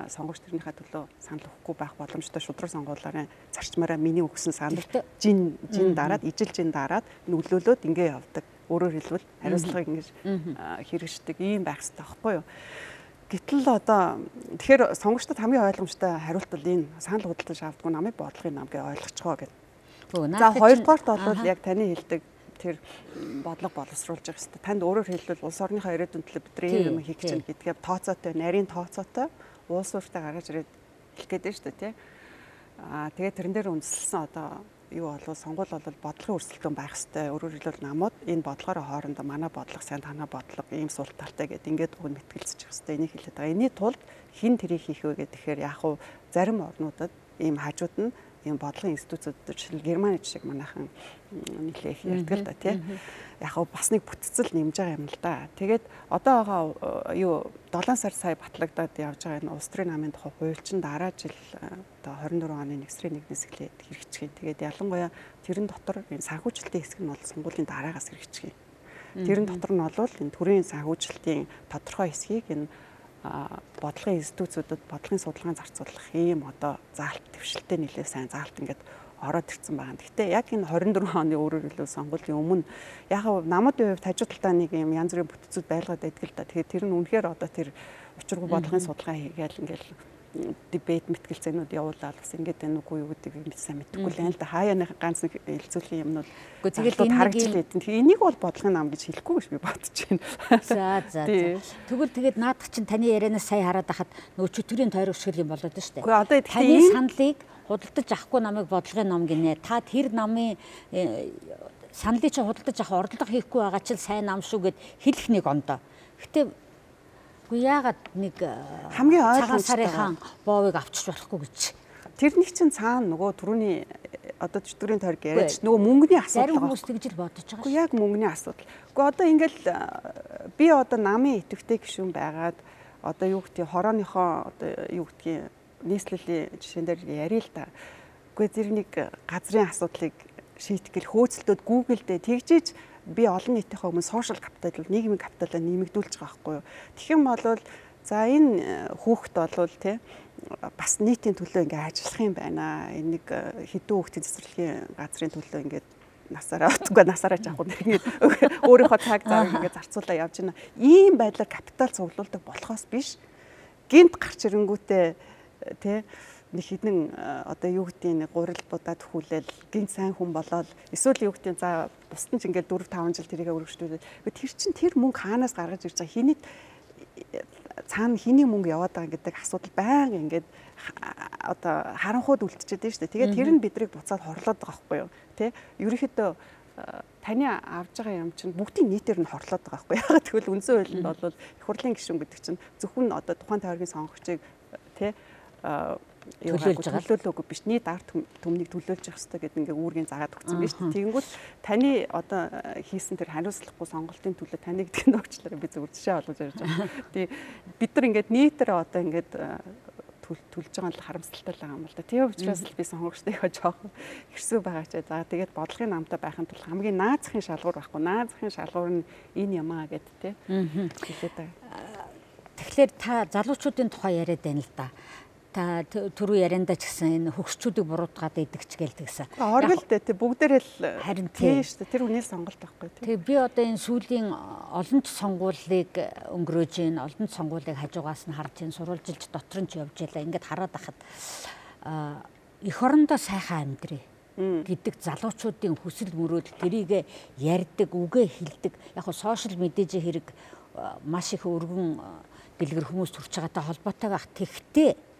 Speaker 2: сонгогч төрийнхаа төлөө санал өгөхгүй байх боломжтой шудраг сонгуулиарын зарчмаараа миний өгсөн санал жин дараад ижил жин дараад нөлөөлөөд ингэ явдаг Өөрөөр хэлбэл хариуцлагыг ингэж хэрэгждэг ийм байх хэрэгтэй байхгүй юу? Гэтэл одоо тэгэхээр сонгогчдод хамгийн ойлгомжтой хариулт бол энэ санал худалдаж авдаггүй намын бодлогын нам гэж ойлгочихоо гэдэг. За хоёрдугаарт бол яг таны хэлдэг тэр бодлого боловсруулж байгаа хэрэгтэй. Танд өөрөөр хэлбэл улс орныхоо ирээдүйн төлөө бидний юм хийх гэж гэдгээ тооцоотой, нарийн тооцоотой улс ууртай гаргаж ирээд хэлэх гээд байна шүү дээ, тий. Тэгээд тэрэн дээр үндэслэн одоо юу болов сонгуул бол бодлогын өрсөлдөөн байх хэрэгтэй. Өөрөөр хэлбэл намууд энэ бодлогоор хоорондоо манай бодлого сайн танаа бодлого ийм сул талтай гэдэг ингээд уг нь мэтгэлцэж байгаа хэрэгтэй. Энийг хэлээд байгаа. Энийний тулд хэн тэрийг хийх вэ гэхээр яг хуу зарим орнуудад ийм хажууд нь ийм бодлогын институтууд жишээл Германы жишээг манайхан нэлээ их ярьдаг л да тий. Яг хөө бас нэг бүтцэл нэмж байгаа юм л да. Тэгээд одоо байгаа юу 7 сар сая батлагдаад явж байгаа энэ улс төрийн намын тухай хууль чинь дараа жил одоо 24 оны 1 сарын 1-ээс эхлээд хэрэгжих. Тэгээд ялангуяа тэрэн дотор энэ санхүүжилтийн хэсэг нь бол сонгуулийн дараагаас хэрэгжих. Тэрэн дотор нь бол энэ төрийн санхүүжилтийн тодорхой хэсгийг энэ бодлогын институтуудад бодлогын судалгаан зарцуулах ийм одоо заалт твшилтэй нэлээд сайн заалт ингээд ороод ирсэн байгаа. Гэхдээ яг энэ 24 оны өөрөөр хэлбэл сонгуулийн өмнө яг намууд хувьд хажуу талдаа нэг юм янз бүрийн бүтцүүд байлгаад байдаг л да. Тэгэхээр тэр нь үнэхээр одоо тэр учиргүй бодлогын судалгаа хийгээл ингээд дебет мэтгэлцээнүүд явуулаад бас ингээд энэ үгүй юу гэдэг юм сайн мэдэхгүй л байна л да. Хаяаны ганц нэг хэлцүүлийн юмнууд
Speaker 1: тэгэл
Speaker 2: харагдж лээд. Тэгэхээр энийг бол бодлогын нам гэж хэлэхгүй гэж би бодож байна.
Speaker 1: За. Тэгвэл тэгээд наадах чинь таны ярианаас сая хараад байхад нөгөө чөтгөрийн тойрог шиг юм болоод байна шүү дээ.
Speaker 2: Гэхдээ одоо
Speaker 1: таны саналыг худалдаж авахгүй намайг бодлогын ном гинэ. Та тэр намын саналыг чинь худалдаж авах орлого хийхгүй байгаа чинь сайн нам шүү гэд хэлэх нэг ондоо. Гэтэ яагаад нэг
Speaker 2: хамгийн
Speaker 1: цагаан сарын боовыг авчиж болохгүй гэж.
Speaker 2: Тэрний чинь цаана нөгөө түрүүний одоо чөтгөрийн тойрог яриач нөгөө мөнгөний асуудал.
Speaker 1: Зарим хүмүүс тэгж л бодож байгаа
Speaker 2: шүү. Яг мөнгөний асуудал. Гэхдээ одоо ингээл би одоо намын идэвхтэй гишүүн байгаад одоо юу гэдгийг хорооныхоо одоо юу гэдгийг нийслэлийн жишээн дээр ярил л та. Гэхдээ зэрэг нэг газрын асуудлыг шийдэх гэл хөөцөлтөд Google дээр тэгжиж би олон нийтийнхээ өмнө сошиал капитал, нийгмийн капиталаа нэмэгдүүлж байгаа байхгүй юу. Тэгэх юм бол за энэ хүүхэд болвол тий бас нийтийн төлөө ингээ ажиллах юм байна. Энэ нэг хэдэн хүүхдийн цэцэрлэгийн газрын төлөө ингээ насаараа жаахгүй нэг өөрийнхөө цаг зав ингээ зарцуулаа явж байна. Ийм байдлаар капитал цуглуулдаг болохоос биш. Гинт гарч ирэнгүүтээ тий нэг хідэн одоо юу гэдгийг нэг гурил будаад хүлээл гинт сайн хүн болоод эсвэл юу гэдгийг за бусдын ч ингээд 4-5 жил тэрийгэ өргөжлүүлээд тэр чин тэр мөнгө хаанаас гаргаж ирж байгаа хэний цаана хэний мөнгө яваад байгаа гэдэг асуудал байнга ингээд одоо харанхууд үлдчихэд байна шүү дээ. Тэгээд тэр нь бидрийг буцаад хорлоод байгаа байхгүй юу тий ерөнхийдөө таны авж байгаа юм чинь бүгдийн нийтээр нь хорлоод байгаа байхгүй яагаад гэвэл үндсэн хуулинд бол их хурлын гишүүн гэдэг чинь зөвхөн одоо тухайн тойргийн сонгогчийг тий төлөөлөөгүй биш нийт ард түмнийг төлөөлж явах хэрэгтэй гэдэг ингээ үүргийн заагаад өгсөн биз дээ. Тэгэнгүүт таны одоо хийсэн тэр хариуцлагагүй сонголтын төлөө таны гэдэг нь өгчлөө би зөв жишээ олгож ярьж байгаа. Тэгээ бид нар ингээд нийтээр одоо ингээд төлж байгаа нь харамсалтай л байгаа юм л да. Тийм учраас л би сонгогчдойгоо жоохон хэрсүү байгаа ч за тэгээд бодлогын намтай байхын тулд хамгийн наазахын шалгуур байхгүй. Наазахын шалгуур нь энэ юм аа гэд тий.
Speaker 1: Тэгэхээр та залуучуудын тухай яриад байна л да. Та түрүү ярианда ч гэсэн энэ хөгшчүүдийг буруутгаад идэгч гэлдэгсэн.
Speaker 2: Оргил дээ тий бүгдээрээ л харин тий шүү дээ. Тэр үнээс сонголт байхгүй тий.
Speaker 1: Тэгээ би одоо энэ сүүлийн олон ч сонгуулийг өнгөрөөж ийн олон ч сонгуулийг хажуугаас нь харж ийн сурвалжилж дотор нь ч явж ялаа. Ингээд хараад байхад эх орондоо сайхан амьдрий гэдэг залуучуудын хүсэл мөрөөдөл тэрийг ярьдаг, үгээ хэлдэг. Яг нь сошиал медиа хэрэг маш их өргөн дэлгэр хүмүүс төрж байгаатай холбоотой байх. Тэгтээ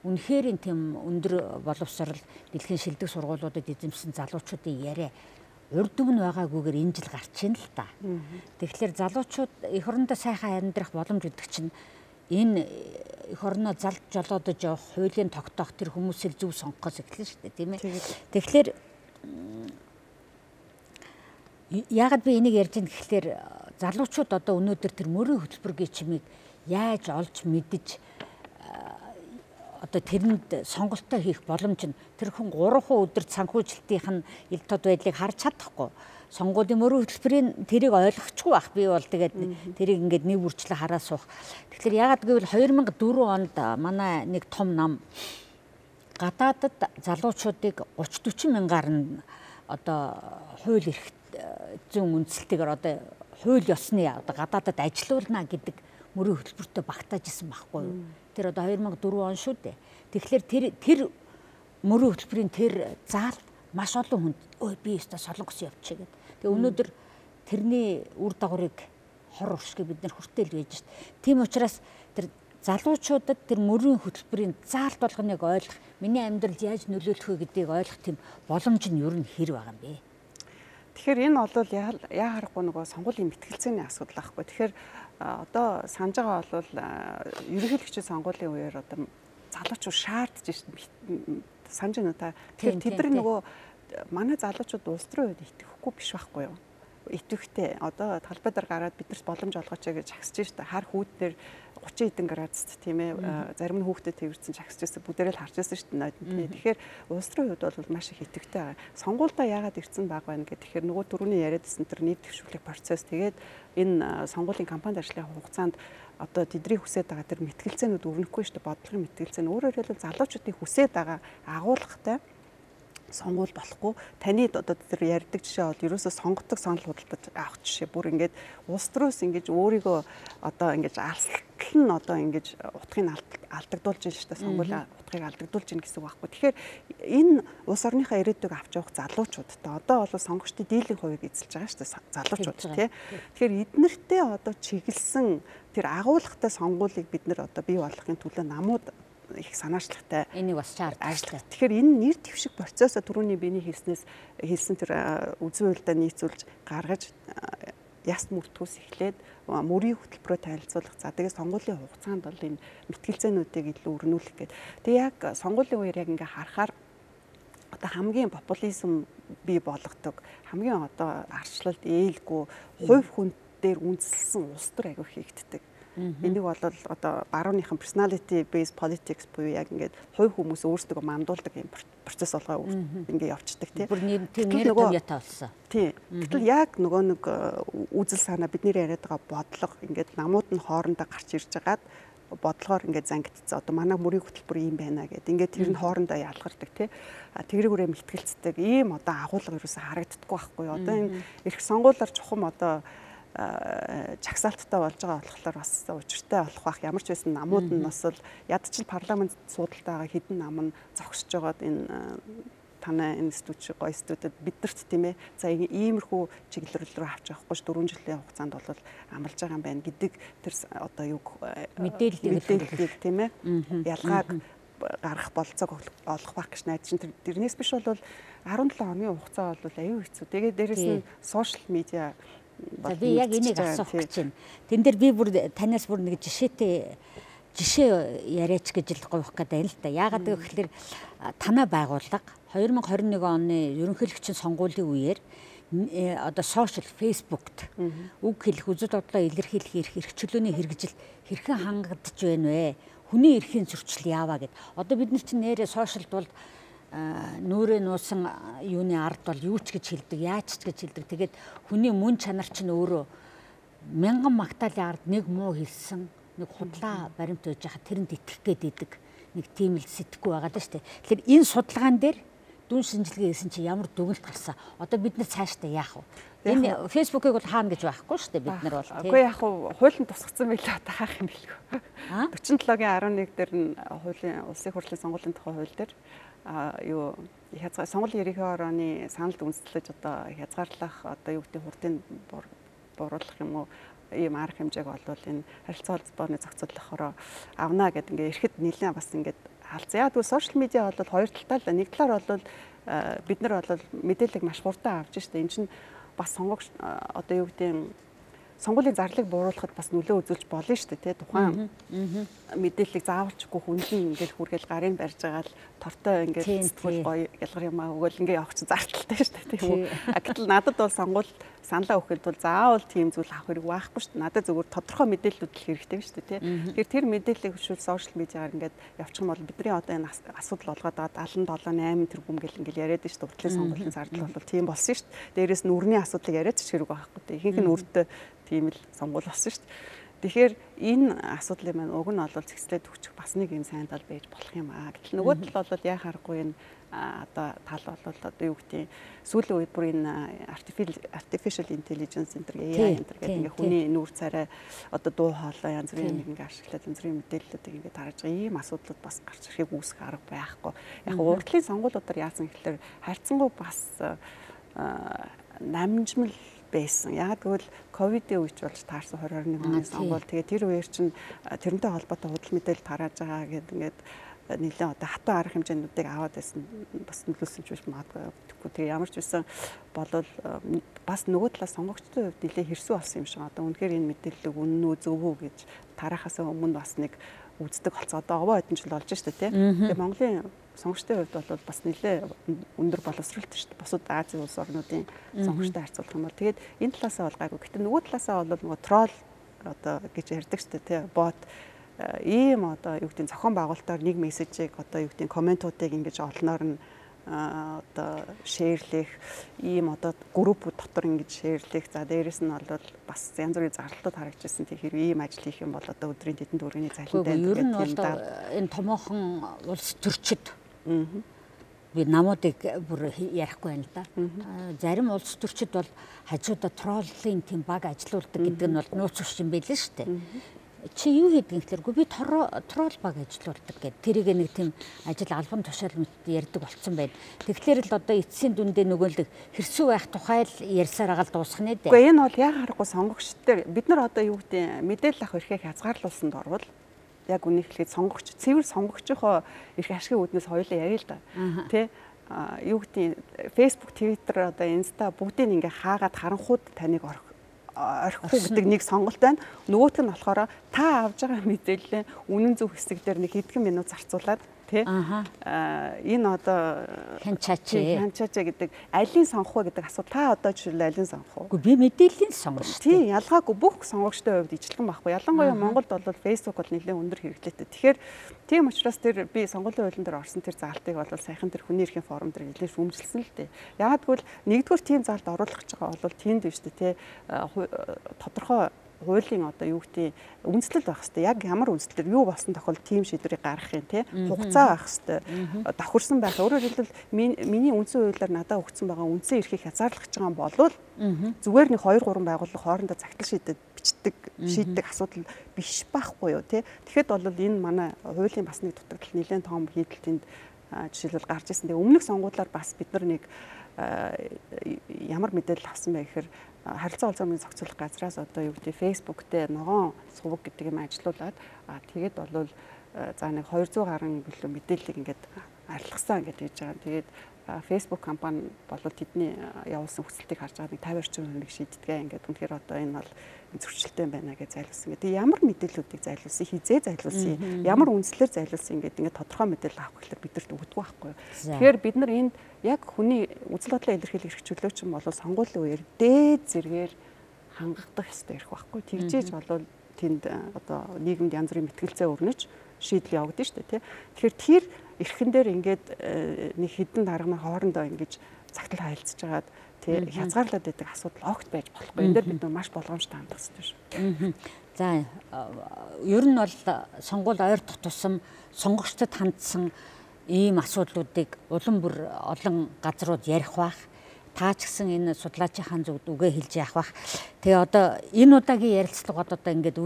Speaker 1: үнэхээр тийм өндөр боловсрал дэлхийн шилдэг сургуулиудад эзэмсэн залуучуудын яриа урд өмнө байгаагүйгээр энэ жил гарч ийн л та. Тэгэхээр залуучууд эх орондоо сайхан амьдрах боломж өгдөг чинь энэ эх орноо залж жолоодож явах, хуулийн тогтоох тэр хүмүүсийг зөв сонгохоос эхэлнэ шүү дээ, тийм ээ. Тэгэхээр яагаад би энийг ярьж байгаа гэхээр залуучууд одоо өнөөдөр тэр мөрийн хөтөлбөрийн чимийг яаж олж мэдж одоо тэрэнд сонголтоо хийх боломж нь тэр хүн 3 өдөр санхүүжилтийн ил тод байдлыг харж чадахгүй. Сонгуулийн мөрийн хөтөлбөрийн тэрийг ойлгохгүй байх. Би бол тэгээд тэрийг ингээд нэг үрчлээ хараа суух. Тэгэхээр яагаад гэвэл 2004 онд манай нэг том нам гадаадад залуучуудыг 30-40 мянгаар нь одоо хууль эрх зүүн үндсэлтэйгээр одоо хууль ёсны одоо гадаадад ажилуулна гэдэг мөрийн хөтөлбөртөө багтааж исэн байхгүй юу. Тэр одоо 2004 он шүү дээ. Тэгэхээр тэр мөрийн хөтөлбөрийн тэр заал маш олон хүнд ой би өстө солонгос явчих гэдэг. Тэгээ өнөөдөр тэрний үр дагаврыг хор уршиг бид нар хүртэл байж шít. Тийм учраас тэр залуучуудад тэр мөрийн хөтөлбөрийн заалт болгоныг ойлгох, миний амьдралд яаж нөлөөлөх вэ гэдгийг ойлгох тийм боломж нь ер нь хэр байгаа юм бэ?
Speaker 2: Тэгэхээр энэ бол яа харахгүй нөгөө сонгуулийн мэтгэлцээний асуудал байхгүй. Тэгэхээр одоо санаж байгаа бол ерөнхийлөгчийн сонгуулийн үеэр одоо залуучууд шаардж шít санаж байна та. Тэгэхээр тэд нөгөө манай залуучууд улс төрийн үед итгэхгүй биш байхгүй юу? Итгэвхтэй одоо талбай дээр гараад биднэрт боломж олгооч гэж агсаж шít. Хар хүүдээр 30 хэдэн градуст тийм ээ зарим нь хүүхдэд тэрвэрсэн чагсаж байсан бүгдээрээ л харж байсан шít нойд. Тэгэхээр улс төрийн үед бол маш их итгэвхтэй байгаа. Сонгуульдаа яагаад ирсэн баг байна гэдэг. Тэгэхээр нөгөө түрүүний яриадсэн тэр нийт төвшүүлэх процесс тэгээд энэ сонгуулийн кампанид ажлын хугацаанд одоо тэдний хүсэж байгаа тэр мэтгэлцээнүүд өрнөхгүй шүү дээ. Бодлогын мэтгэлцээн өөрөөр хэлбэл залуучуудын хүсэж байгаа агуулгатай сонгуул болохгүй таны одоо тэр ярьдаг жишээ бол ерөөсөө сонгодог санал худалдаж авах жишээ бүр ингээд улс төрөөс ингэж өөрийгөө одоо ингэж алсалтал нь одоо ингэж утгыг алдагдуулж байна шүү дээ сонгуулийн утгыг алдагдуулж байна гэсэн үг байхгүй. Тэгэхээр энэ улс орныхаа ирээдүйг авч явах залуучуудтай одоо бол сонгогчдын дийлэн хувийг эзэлж байгаа шүү дээ залуучууд тий. Тэгэхээр эднэртээ одоо чиглэсэн тэр агуулгатай сонгуулийг бид нэр одоо бий болгохын төлөө намууд их санаачлагтай
Speaker 1: энийг бас шаардлагатай.
Speaker 2: Тэгэхээр энэ нэр дэвших процессо түрүүний биений хэлсэн тэр үзэн хуульдаа нийцүүлж гаргаж яс мөртгөөс эхлээд мөрийн хөтөлбөрөөр танилцуулах. За тэгээд сонгуулийн хугацаанд бол энэ мэтгэлцээнүүдийг илүү өрнүүлэх гэдэг. Тэгээ яг сонгуулийн үеэр яг ингээ харахаар одоо хамгийн популизм бий болгодог, хамгийн одоо арчлалд ээлгүй хувь хүн дээр үндэслэн улс төр аягүй хийгддэг. Энийг бол одоо барууныхан personality based politics буюу яг ингээд хувь хүмүүс өөрсдөө мандуулдаг юм процесс болгоо ингээд явцдаг тийм.
Speaker 1: Бүр нэр томьёотой болсон.
Speaker 2: Тийм. Гэтэл яг нөгөө нэг үзэл санаа бидний яриад байгаа бодлого ингээд намууд нь хоорондоо гарч ирж байгаад бодлогоор ингээд зангидцсан. Одоо манай мөрийн хөтөлбөр юм байна гэдэг. Ингээд тэр нь хоорондоо ялгардаг тий. Тэгрэгүрээ мэтгэлцдэг ийм одоо агуулга юусэн харагддаггүй байхгүй юу. Одоо энэ эрх сонгуулиар чухам одоо чагсаалттай болж байгаа болохоор бас учиртай болох бах. Ямар ч байсан намууд нь бас л ядчил парламент суудалтайгаа хідэн нам нь зогсож байгаад энэ танай институт шиг гоё институтэд биднэрт тийм ээ за иймэрхүү чиглэл рүү авч явахгүй ш 4 жилийн хугацаанд бол амлаж байгаа юм байна гэдэг тэр одоо юу мэдээллийг тийм ээ ялгааг гарах болцоог олох байх гэж найдаж чинь тэрнээс биш бол 17 хоногийн хугацаа бол аюу хэцүү. Тэгээд дээрэс нь сошиал медиа
Speaker 1: за би яг энийг асуух гэж байна. Тэн дээр би бүр танаас бүр нэг жишээ яриач гэж л гових гэдэг л да. Яагаад гэвэл танай байгууллага 2021 оны ерөнхийлөгчийн сонгуулийн үеэр одоо сошиал фейсбુકт үг хэлэх үзэл бодлоо илэрхийлэх эрх чөлөөний хэрэгжил хэрхэн хангагдж байна вэ? Хүний эрхийн зөрчил яаваа гэд. Одоо бид нар чинь нэрээ сошиалд бол нүрээ нуусан юуны ард бол юу ч гэж хэлдэг, яаж ч гэж хэлдэг. Тэгээд хүний мөн чанар чинь өөрөө мянган магтаалын ард нэг муу хэлсэн, нэг худлаа баримт өгж хахад тэрэнд итгэх гээд идэг. Нэг тийм л сэтгэхгүй байгаа даа шүү дээ. Тэгэхээр энэ судалгаан дээр дүн шинжилгээ хийсэн чи ямар дүгнэлт гарсан? Одоо бид нар цаашдаа яах вэ? Энэ фейсбુકийг бол хаана гэж байхгүй шүү дээ бид нар бол.
Speaker 2: Үгүй яг хуулийн тусгацсан байлаа одоо хаах юм бэлгүй. 47-гийн 11 дээр нь хуулийн улсын хурлын сонгуулийн тухай хууль дээр юу сонгуулийн ерөнхий орооны саналд үндэслэж одоо хязгаарлах одоо юу гэдэг хурдыг буруулах юм уу ийм арга хэмжээг болвол энэ харилцаа холбооны зохицуулахаараа авна гэдэг ингээ ирэхэд нэлээд бас ингээд хаалцсан. Яг тэгвэл сошиал медиа бол хоёр талтай л нэг талаар бол бид нар бол мэдээлэл маш хурдан авч штэ. Энэ чинь бас сонгогч одоо юу гэдэг сонгуулийн зарлыг бууруулахад бас нөлөө үзүүлж болно шүү дээ тий тухайн мэдээллийг заавалчгүй хүнлэн ингээл хүргээл гарын барьж байгаа л тортой ингээл сэтгүүл гоё ялгар юмаа өгөөл ингээ явах чинь зарталтай шүү дээ тийм үү. Гэтэл надад бол сонгуул саналаа өгөхөд бол заавал тийм зүйл авах хэрэг байхгүй шүү дээ. Надад зөвхөн тодорхой мэдээллүүд л хэрэгтэй шүү дээ тий. Тэгэхээр тэр мэдээллийг хөшүүл сошиал медиагаар ингээд явуучих юм бол бидний одоо энэ асуудал болгоод байгаа 77-8 тэрбум гэл ингээл яриад шүү дээ. Уртлын сонгуулийн зардал бол тийм болсон шүү дээ. Дээрээс нь үрний асуудлыг яриад ч хэрэг байхгүй тий. Ихэнх нь үрдээ тийм л сонгуул болсон шүү дээ. Тэгэхээр энэ асуудлын маань уг нь бол зэгцлээд өгчих бас нэг юм сайн тал байж болох юм аа. Гэтэл нөгөө тал бол яа харахгүй энэ одоо тал бол одоо юу гэдэг сүүлийн үед бүр энэ artificial intelligence энэ AI энэ гэдэг ингээ хүний нүүр царай одоо дуу хоолой янз бүрийн ингээ ашиглаад янз бүрийн мэдээллүүдийг ингээ тарж байгаа ийм асуудлууд бас гарч ирэхийг үүсэх арга байхгүй. Яг урдлын сонгуулиудаар яасан гэхэлэр хайрцангуй бас намжмал байсан. Яг тэгвэл ковидын үеч болж таарсан 2021 оны сонгуул. Тэгээ тэр үеэр чинь тэрнтэй холбоотой худал мэдээлэл тарааж байгаа гэдэг ингээд нэлээд одоо хатуу арга хэмжээнүүдийг аваад байсан бас нөлөөсөн ч биш магадгүй. Тэгээ ямар ч байсан болвол бас нөгөө талаас сонгогчдын хувьд нэлээд хэрсүү болсон юм шиг. Одоо үнэхээр энэ мэдээллийг үнэн үү зөв үү гэж тараахаас өмнө бас нэг үздэг болцоо. Одоо овоо хэдэн жил болж штэ тий. Тэгээ Монголын сонгогчдын хувьд бол бас нэлээд өндөр боловсролтой шүү дээ. Бусад Азийн улс орнуудын сонгогчтой харьцуулах юм бол тэгээд энэ талаасаа бол гайгүй. Гэтэ нөгөө талаасаа бол нөгөө тролл одоо гэж ярьдаг шүү дээ тий. Бот ийм одоо юу гэдэг зохион байгуулалтаар нэг мессежийг одоо юу гэдэг комментуудыг ингэж олноор нь одоо шеэрлэх ийм одоо группүүд дотор ингэж шеэрлэх. За дээрэс нь бол бас янз бүрийн зарлалтууд харагдчихсан. Тэр хэрэг ийм ажил хийх юм бол одоо өдрийн тэдэнд өргөний цалинтай
Speaker 1: гэдэг юм да. Энэ томоохон улс төрчид би намуудыг бүр ярихгүй байна л да. Зарим улс төрчид бол хажуудаа троллын тийм баг ажилуулдаг гэдэг нь бол нууц ус юм байлээ шүү дээ. Чи юу хийдэг гэхэлэргүй би тролл баг ажилуулдаг гэдэг. Тэрийг нэг тийм ажил албан тушаал мэт ярьдаг болцсон байна. Тэгэхээр л одоо эцсийн дүндээ нөгөөлөг хэрсүү байх тухай л ярьсаар агаал дуусах нэ дээ.
Speaker 2: Гэхдээ энэ бол яг харахгүй сонгогчдод бид нар одоо юу гэдэг мэдээлэл авах эрхээ хязгаарлуулсанд орвол яг үнийг хэлээд сонгогч цэвэр сонгогчийнхоо эрх ашигын үүднээс хоёулаа ярил л да. Тэ юу гэдэг Facebook, Twitter одоо Insta бүгдийг ингээ хаагаад харанхууд таныг орхихгүй гэдэг нэг сонголт байна. Нөгөөх нь болохоор та авж байгаа мэдээлэл үнэн зөв хэсэг дээр нэг хэдхэн минут зарцуулаад тий энэ одоо хянчаач гэдэг алийг сонгох вэ гэдэг асуудал та одоо жишээл алийг сонгох уу?
Speaker 1: Үгүй би мэдээллийн сонгоно шүү дээ.
Speaker 2: Тий ялгаагүй бүх сонгогчдын хувьд ижилхэн байхгүй. Ялангуяа Монголд бол Facebook бол нэлээд өндөр хэрэглээтэй. Тэгэхээр тийм учраас тэр би сонгуулийн хуулийн дээр орсон тэр заалтыг бол саяхан тэр хүний эрхийн форум дээр нэлээд шүүмжилсэн л дээ. Яагаад гэвэл нэгдүгээр тийм заалд оруулах гэж байгаа бол тийм дээ шүү дээ тий тодорхой хуулийн одоо юу гэдэг үндэслэл байх хэвээр яг ямар үндэслэлээр юу болсон тохиолдолд тийм шийдвэрийг гаргах юм те хугацаа байх хэвээр давхарсан байх. Өөрөөр хэлбэл миний үндсэн хуулиар надад өгсөн байгаа үндсэн эрхийг хязгаарлах гэж байгаа юм болвол зүгээр нэг 2-3 байгууллага хоорондоо загтал шийддэг асуудал биш байхгүй юу те. Тэгэхэд бол энэ манай хуулийн бас нэг дутагдал нэлээд том хийдэлтэнд жишээлбэл гарч ирсэн. Тэгээ өмнөх сонгуулиар бас бид нар нэг ямар мэдээлэл авсан бэ гэхээр харилцаа олзоомын зохицуулах газраас одоо юу гэдэг Facebook дээр ногоон сувг гэдэг юм ажилуулад тэгээд бол за нэг 200 гаруй билүү мэдээллийг ингээд арилгасан гэдэг хийж байгаа. Тэгээд Facebook компани бол тэдний явуулсан хүсэлтийг харж байгаа нэг 50% шийддэг ингээд үнэхээр одоо энэ бол зөрчилтэй байна гэж зайлуулсан. Тэгээд ямар мэдээллүүдийг зайлуулсан, хизээ зайлуулсан, ямар үндслээр зайлуулсан ингээд тодорхой мэдээлэл авах гэхээр бидэрт өгдөг байхгүй. Тэгэхээр бид нар энд яг хүний үзэл бодлоо илэрхийлэх эрх чөлөөч юм бол сонгуулийн үеэр дээд зэргээр хангагдах ёстой эрх байхгүй. Тэгжээж бол тэнд одоо нийгэмд янз бүрийн мэтгэлцээ өрнөж шийдэл явагдана шүү дээ тий. Тэгэхээр тэр эрхэн дээр ингээд нэг хідэн дарга хоорондоо ингэж цагтл хайлтсаж байгаад тий хязгаарлаад байдаг асуудал огт байж болохгүй. Энэ дээр бид нар маш болгоомжтой хандах хэрэгтэй шүү.
Speaker 1: За ер нь бол сонгуул ойр тутсан сонгогчдод хандсан ийм асуудлуудыг улам бүр олон газрууд ярих бах. Та ч гэсэн энэ судлаачийн зүгт үгээ хэлж яах бах. Тэгээ одоо энэ удаагийн ярилцлагууд одоо ингээд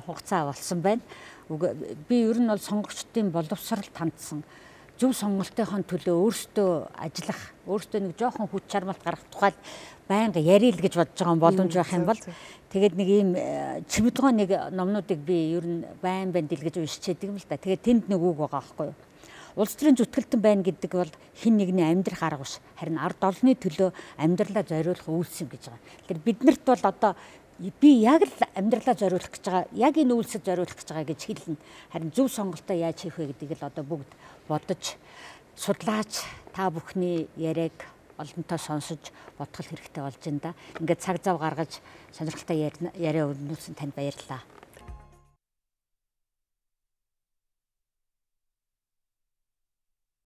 Speaker 1: хугацаа болсон байна. Би ер нь бол сонгогчдын боловсролд хандсан зөв сонголтынхон төлөө өөрсдөө ажиллах, өөрсдөө нэг жоохон хүч чармалт гаргах тухай байнга ярил гэж бодож байгаа боломж байх юм бол тэгээд нэг ийм чимэдгоо нэг номнуудыг би ер нь байн дэлгэж уншчихэдэг юм л да. Тэгээд тэнд нэг үг байгаа байхгүй юу? Улс төрийн зүтгэлтэн байна гэдэг бол хин нэгний амьдрах арга биш. Харин ард олонны төлөө амьдралаа зориулах үйлс юм гэж байгаа. Тэгэхээр биднэрт бол одоо би яг л амьдралаа зориулах гэж байгаа, яг энэ үйлсэд зориулах гэж байгаа гэж хэлнэ. Харин зөв сонголтоо яаж хийх вэ гэдгийг л одоо бүгд бодож судлаач та бүхний яриаг олонтоо сонсож бодох хэрэгтэй болж байна да. Ингээд цаг зав гаргаж сонирхолтой яриа өрнүүлсэн танд баярлалаа.